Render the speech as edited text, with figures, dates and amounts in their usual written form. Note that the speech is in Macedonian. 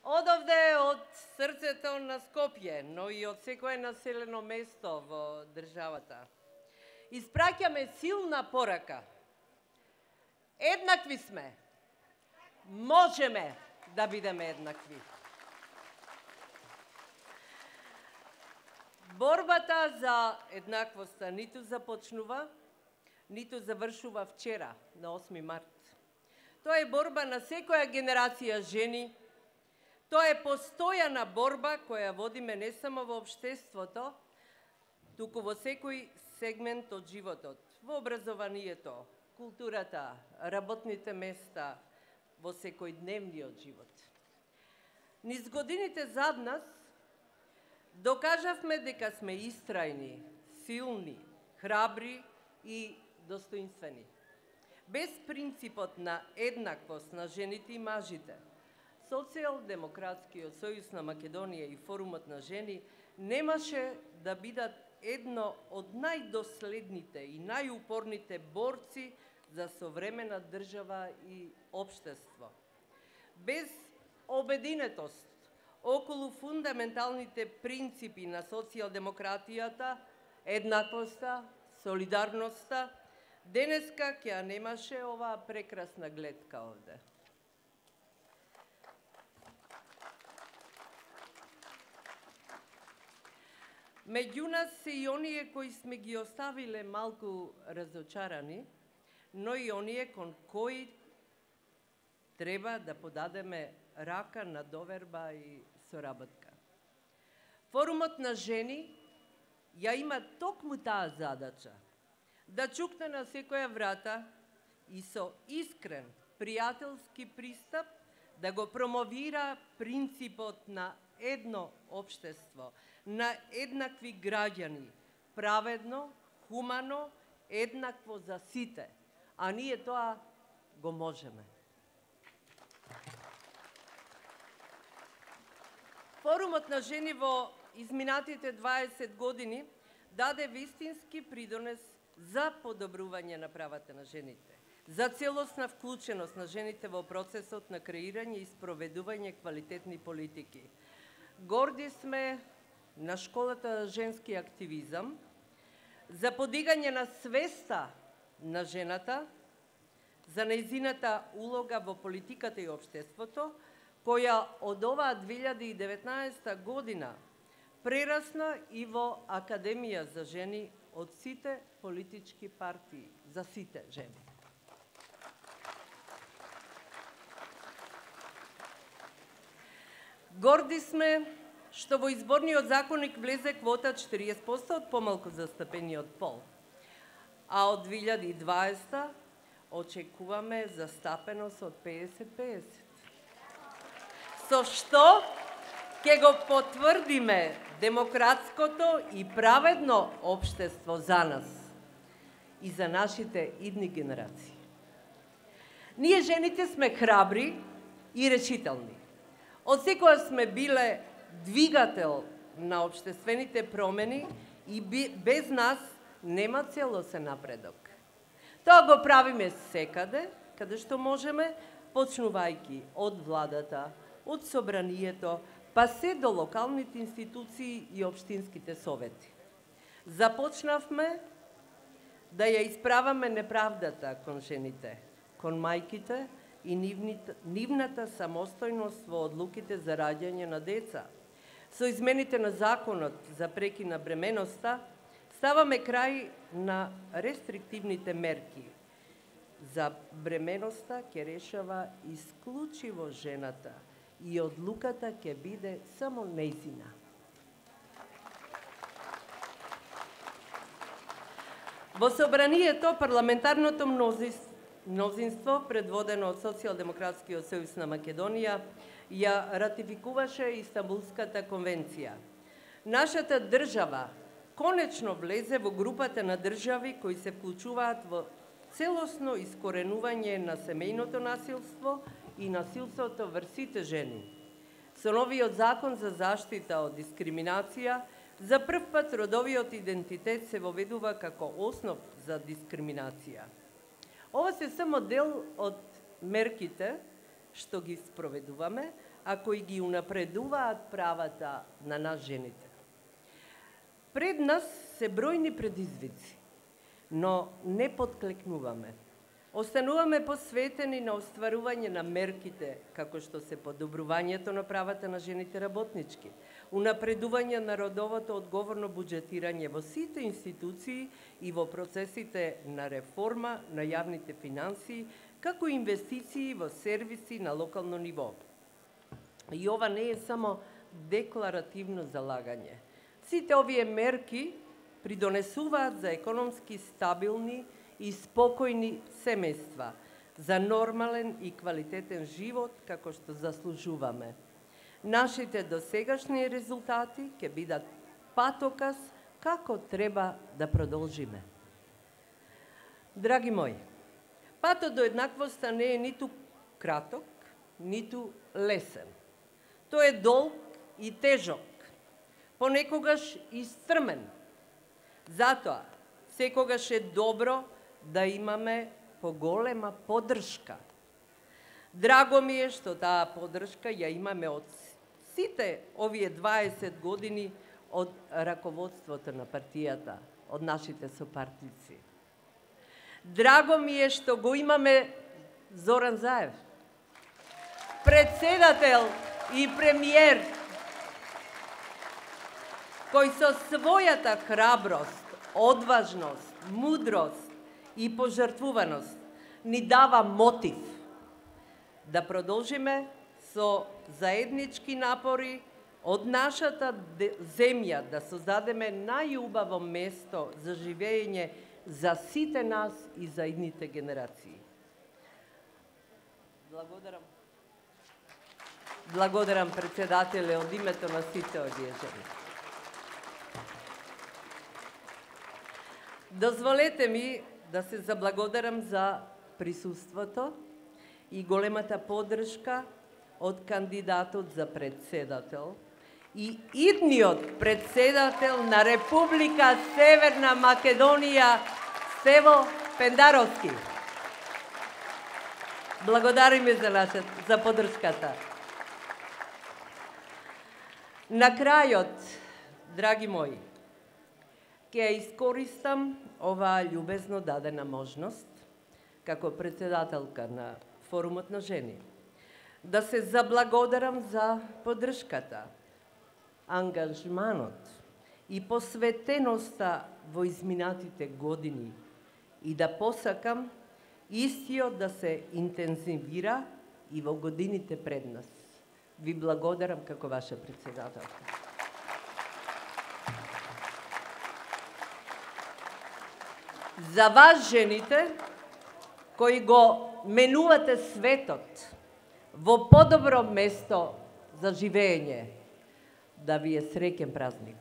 Одовде од срцето на Скопје, но и од секое населено место во државата, испраќаме силна порака. Еднакви сме. Можеме да бидеме еднакви. Борбата за еднаквоста ниту започнува, ниту завршува вчера, на 8 март. Тоа е борба на секоја генерација жени. Тоа е постојана борба која водиме не само во општеството, туку во секој сегмент од животот, во образованието, културата, работните места, во секојдневниот живот. Низ годините зад нас докажавме дека сме истрајни, силни, храбри и достоинствени. Без принципот на еднаквост на жените и мажите, Социјалдемократскиот сојуз на Македонија и Форумот на жени немаше да бидат едно од најдоследните и најупорните борци за современа држава и општество. Без обединетост околу фундаменталните принципи на социјалдемократијата, еднаквоста, солидарноста, денеска ќе ја немаше оваа прекрасна гледка овде. Меѓу нас се и оние кои сме ги оставиле малку разочарани, но и оние кон кои треба да подадеме рака на доверба и соработка. Форумот на жени ја има токму таа задача, да чукне на секоја врата и со искрен, пријателски пристап да го промовира принципот на едно општество, на еднакви граѓани, праведно, хумано, еднакво за сите, а ние тоа го можеме. Форумот на жени во изминатите 20 години даде вистински придонес за подобрување на правата на жените, за целосна вклученост на жените во процесот на креирање и спроведување квалитетни политики. Горди сме на школата за женски активизам, за подигање на свеста на жената, за нејзината улога во политиката и општеството, која од оваа 2019 година прерасна и во Академија за жени од сите политички партии, за сите жени. Горди сме што во изборниот законник влезе квота 40% од помалку застапениот пол, а од 2020 очекуваме застапеност од 50-50. Со што ќе го потврдиме демократското и праведно општество за нас и за нашите идни генерации. Ние жените сме храбри и решителни. Од секоја сме биле двигател на општествените промени и без нас нема целосен напредок. Тоа го правиме секаде, каде што можеме, почнувајќи од владата, од собранието, па се до локалните институции и општинските совети. Започнавме да ја исправаме неправдата кон жените, кон мајките и нивната самостојност во одлуките за раѓање на деца. Со измените на законот за прекин на бременоста, ставаме крај на рестриктивните мерки. За бременоста ќе решава исклучиво жената и одлуката ќе биде само нејзина. Во собранието парламентарното мнозинство, предводено од Социјалдемократскиот сојуз на Македонија, ја ратификуваше Истанбулската конвенција. Нашата држава конечно влезе во групата на држави кои се вклучуваат во целосно искоренување на семејното насилство и насилството врз сите жени. Со новиот закон за заштита од дискриминација, за прв пат родовиот идентитет се воведува како основ за дискриминација. Ова се само дел од мерките што ги спроведуваме, а кои ги унапредуваат правата на нас жените. Пред нас се бројни предизвици, но не подклекнуваме. Остануваме посветени на остварување на мерките, како што се подобрувањето на правата на жените работнички, унапредување на родовото одговорно буџетирање во сите институции и во процесите на реформа на јавните финансии, како инвестиции во сервиси на локално ниво. И ова не е само декларативно залагање. Сите овие мерки придонесуваат за економски стабилни и спокојни семејства, за нормален и квалитетен живот како што заслужуваме. Нашите досегашни резултати ќе бидат патоказ како треба да продолжиме. Драги мои, патот до еднаквоста не е ниту краток, ниту лесен. Тој е долг и тежок, понекогаш и стрмен. Затоа, секогаш е добро да имаме поголема поддршка. Драго ми е што таа поддршка ја имаме од сите овие 20 години од раководството на партијата, од нашите сопартици. Драго ми е што го имаме Зоран Заев, председател и премиер, кој со својата храброст, одважност, мудрост и пожртвуваност ни дава мотив да продолжиме со заеднички напори од нашата земја да создадеме најубаво место за живење за сите нас и за идните генерации. Благодарам председателе од името на сите овие жени. Дозволете ми да се заблагодарам за присуството и големата поддршка од кандидатот за председател и идниот председател на Република Северна Македонија, Стево Пендаровски. Благодариме за поддршката. На крајот, драги мои, ќе ја искористам оваа љубезно дадена можност, како председателка на Форумот на жени, да се заблагодарам за поддршката, ангажманот и посветеноста во изминатите години и да посакам истиот да се интензивира и во годините пред нас. Ви благодарам како ваша председателка. За вас, жените, кои го менувате светот во подобро место за живење, да ви е среќен празник.